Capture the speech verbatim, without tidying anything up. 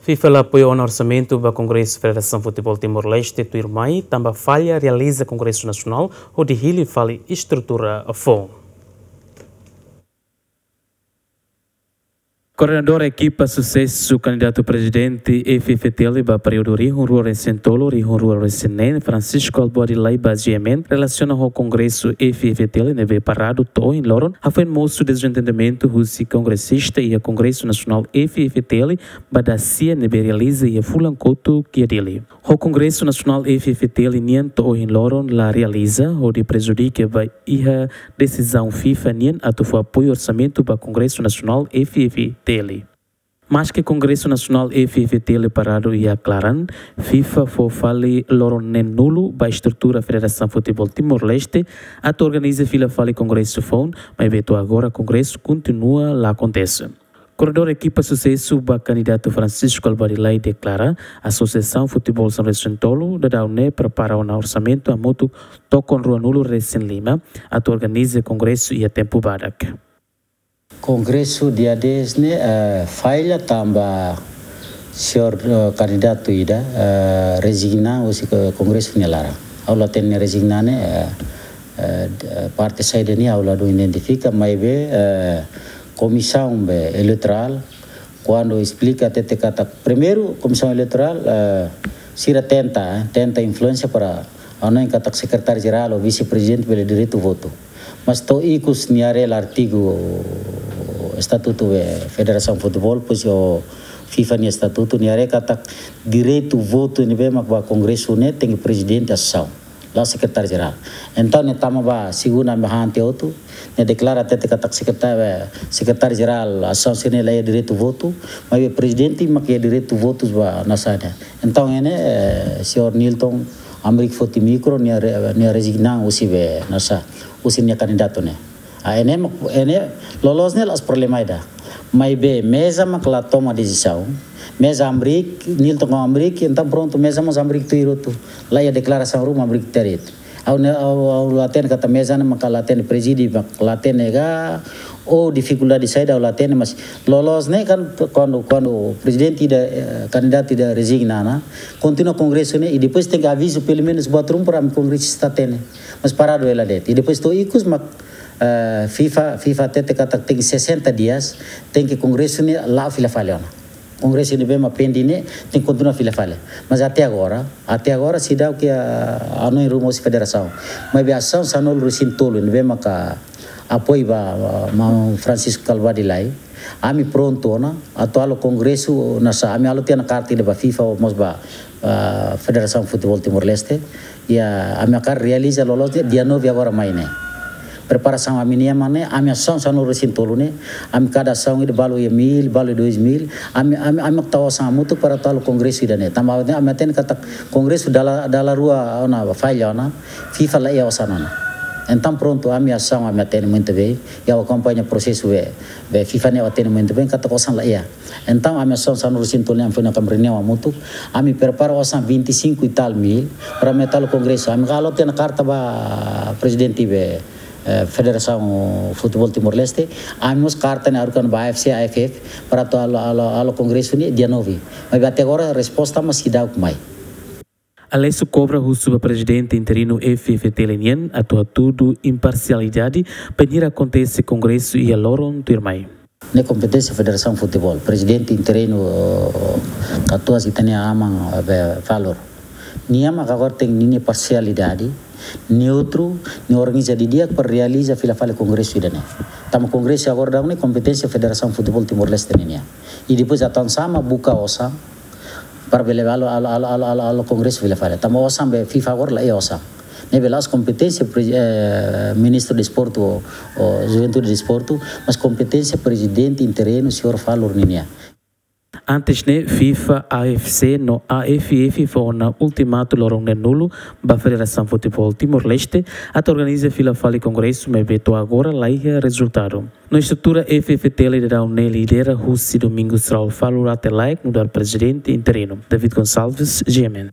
FIFA la apoia ona orsamentu ba Kongresu Federasaun Futeból Timor-Leste tuirmai, tanba falla realiza Kongresu Nasionál hodi hili fali estrutura foun. Koordenadór ekipa susesu kandidatu prezidente F F T L ba períodu rihun rua resin tolu, rihun rua resin neen, Francisco Albuadi Lai ba G M N, relasiona ho Kongresu F F T L ne'ebé paradu to'o ohin loron, hafoin mosu dezentendimentu husi kongresista iha Kongresu Nasionál F F T L ba dasia ne'ebé realiza iha fulan kotuk iha Dili. Ho Kongresu Nasionál F F T L nian to'o ohin loron la realiza, hodi prejudika ba iha desizaun FIFA nian atu fó apoiu orsamentu ba Kongresu Nasionál F F T L. Maske Kongresu Nasionál F F T L paradu iha klaran, FIFA fó fali loron neen-nulu ba estrutura Federasaun Futeból Timor-Leste atu organiza fila fali kongresu foun, maibé to'o agora kongresu kontinua la akontese. Koordenadór ekipa susesu ba kandidatu Francisco Albuadi Lai deklara, Asosiasaun Futeból sanulu-resin-tolu daudaun ne'e prepara ona orsamentu hamutuk tokon ruanulu-resin-lima atu organiza kongresu iha tempu badak. Kongresu dia dez ne'e, eh, falla tanba señór, eh, kandidatu ida, eh, rezigna husi ko-, kongresu nia laran. Ha'u la hatene rezigna ne'e, eh, eh, d-, eh, parte saida nian ha'u la dún identifika, maibé, eh, komisaun be eleitorál, kuandu esplika hatete katak, primeiru, komisaun eleitorál, eh, sira tenta, eh, tenta influénsia para hanoin katak sekretáriu jerál ou vise-prezidente bele direitu votu. Mas to'o ikus nia haree la artigu estatutu be Federasaun Futeból, pois o FIFA nia estatutu, nia haree katak direitu votu ne'ebé mak ba kongresu ne'e tenke prezidente asosiasaun, la'ós sekretáriu jerál. Entaun nia tama ba segunda, ami han tiha hotu, nia deklara hatete katak sekretá-, eh, sekretáriu jerál asosiasaun sira-ne'e la iha direitu votu, maibé prezidente mak iha direitu votu ba nasaun ne'e. Entaun ne'e, eh, señór Nilton Amrik foti mikro, nia re-, nia rezigna husi be nasaun, husi nia kandidatu ne'e. Ah, ne'e mak, ne'e loloos ne'e la'ós problema ida. Maibé meza mak la toma desizaun. Meza Amrik, Nilton ho Amrik, entaun prontu meza mós Amrik tuir hotu. La iha deklarasaun ruma Amrik teret. Ha'u ne'e, ha'u, ha'u la hatene katak meza ne'e mak la hatene, prezide mak la hatene ka, ou difikuldade saida ha'u la hatene, mas loloos ne'e kan kuandu, kuandu prezidente ida, eh, kandidatu ida rezigna ona, kontinua kongresu ne'e, i depois tenke avizu pelumenus buat ruma para ami kongresista hatene. Mas paradu hela de'it. I depois to'o ikus mak, eh, FIFA, FIFA hatete katak tenke sesenta dias, tenke kongresu ne'e la'o fila fali ona. Kongresu ne'ebé mak pending ne'e tenke kontinua fila fali. Mas até agora, até agora seidauk iha hanoin ruma husi federasaun. Maibé asosiasaun sanulu-resin-tolu ne'ebé maka apoiu ba, ba maun Francisco Albuadi Lai, ami prontu ona atu halo kongresu nasaun, ami halo tiha ona karta ida ba FIFA mós ba, ba Federasaun Futeból Timor-Leste. Iha, ami hakarak realiza loloos ne'e dia nove agora mai ne'e. Preparasaun ami-nian mak ne'e, ami asosiasaun sanulu-resin-tolu ne'e, ami kada asosiasaun ida balu iha mil, balu dois mil, ami, ami, ami mak tau osan hamutuk para atu halo kongresu ida-ne'e. Tanba ne'e ami hatene katak kongresu dala, dala rua ona falla ona, FIFA la iha osan ona. Entaun prontu, ami asosiasaun ami hatene muito bem, i ha'u akompaña prosesu be, be FIFA ne'e ha'u hatene muito bem, katak osan la iha. Entaun ami asosiasaun sanulu-resin-tolu ne'e ami foin ona ami reuniaun hamutuk, ami prepara osan vinte e cinco e tal mil para ami atu halo kongresu. Ami halo tiha ona karta ba prezidente be, eh, Federasaun Futeból Timor-Leste, ami mós karta ne'e haruka ona ba A F C, A F F, para atu halo, halo, halo kongresu ne'e dia nove. Maibé até agora resposta mak seidauk mai. Alessio Cobra husu ba prezidente interinu F F T L nian atu hatudu imparsialidade bainhira akontese kongresu iha loron tuirmai. Ne'e kompeténsia Federasaun Futeból, prezidente interinu, eh, katuas ita-nia aman, eh, be, Valor. Nia mak agora tenke ninia parsialidade, neutru, nia organiza didi'ak para realiza fila fali kongresu ida-ne'e. Tanba kongresu agora daudaun ne'e kompeténsia Federasaun Futeból Timor-Leste ninian. I depois atu hanesan sá mak buka osan, para bele halo, halo, halo kongresu fila fali. Tanba osan be FIFA agora la iha osan. Ne'ebé la'ós kompeténsia pre-, eh, Ministru Desportu ou, ou Juventude Desportu, mas kompeténsia prezidente interinu señór Valor ninian. Antes ne'e, FIFA, A F C no A F F fó ona ultimatu loron neen-nulu ba Federasaun Futeból Timor-Leste atu organiza fila fali kongresu, maibé to'o agora la iha rezultadu. No estrutura F F T L daudaun ne'e lidera husi Domingos Raul Valor Atelaik nu'udar prezidente interinu. David Gonçalves, G M N.